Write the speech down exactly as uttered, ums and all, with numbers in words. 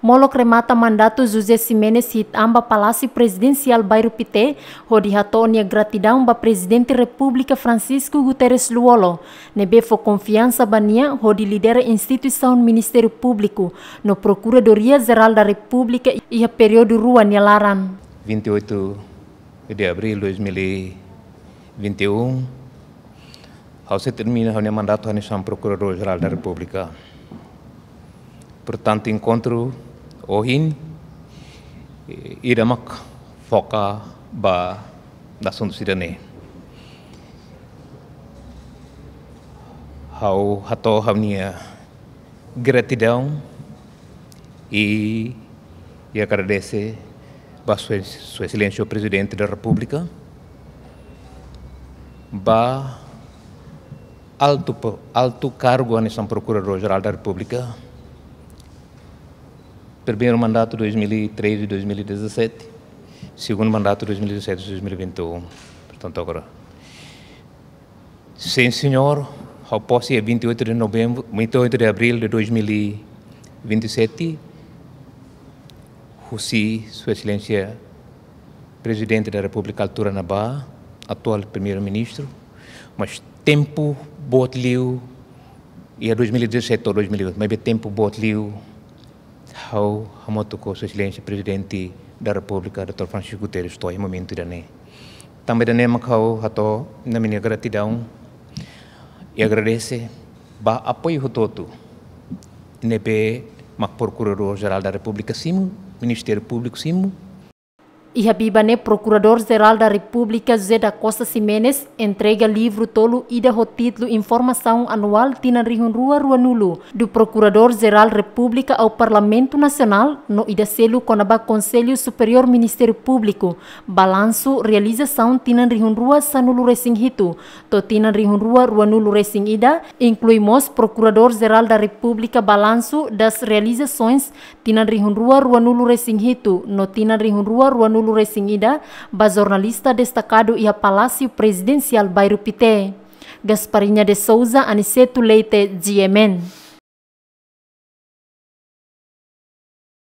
Molok remata mandatu José Ximenes hi'it an ba Palásiu Prezidensiál Bairru Pité, hodi hato'o nia gratidaun ba Prezidente Repúblika Francisco Guterres Lú-Olo, ne'ebé fó konfiansa ba nia hodi lidera instituisaun Ministériu Públiku no Prokuradoria Jerál da Repúblika iha períodu rua nia laran. Vinte e oito de abril de dois mil e vinte e um, ha'u sei termina ha'u-nia mandatu hanesan Prokuradór Jerál da Repúblika. Portantu, enkontru ohin, eh, ida mak foka ba asuntu sira-ne'e. Ha'u hato'o ha'u-nia gratidaun i, i agradese ba Sua, Sua Exelénsia Prezidente da Repúblika, ba altu po-, altu kargu hanesan Prokuradór Jerál da Repúblika, primeiru mandatu dois mil e treze, dois mil e dezassete, segundu mandatu dois mil e dezassete, dois mil e vinte e um. Portantu, agora, sim, señór, ha'u pose iha vinte e oito de novembro, vinte e oito de abril de dois mil e vinte e sete, husi Sua Exelénsia Prezidente da Repúblika altura ne'ebá, atuál Primeiru-Ministru, mas tempu boot liu, iha dois mil e dezassete to'o dois mil e vinte, maibé tempu boot liu, ha'u hamutuk ho Sua Exelénsia Prezidente da Repúblika, doutór Francisco Guterres, to'o iha momentu ida-ne'e. Tanba ida-ne'e mak ha'u hato'o ha'u-nia gratidaun i agradese ba apoiu hotu-hotu ne'ebé mak Prokuradór Jerál da Repúblika simu, Ministériu Públiku simu. Iha biban ne'e, Prokuradór Jerál da Repúblika José da Costa Ximenes entrega livru tolu, ida ho títulu Informasaun Anuál tinan rihun rua ruanulu do Prokuradór Jerál Repúblika ao Parlamentu Nasionál, no ida seluk kona-ba Konsellu Superiór Ministériu Públiku, Balansu Realizasaun tinan rihun rua sanulu resin hitu to'o tinan rihun rua ruanulu resin ida, inklui mós Prokuradór Jerál da Repúblika Balansu das Realizações tinan rihun rua ruanulu resin hitu no tinan rihun rua ruanulu resin ida, ba jornalista destakadu iha Palásiu Prezidensiál Bairru Pité. Gasparinha de Souza, Aniceto Leite, G M N.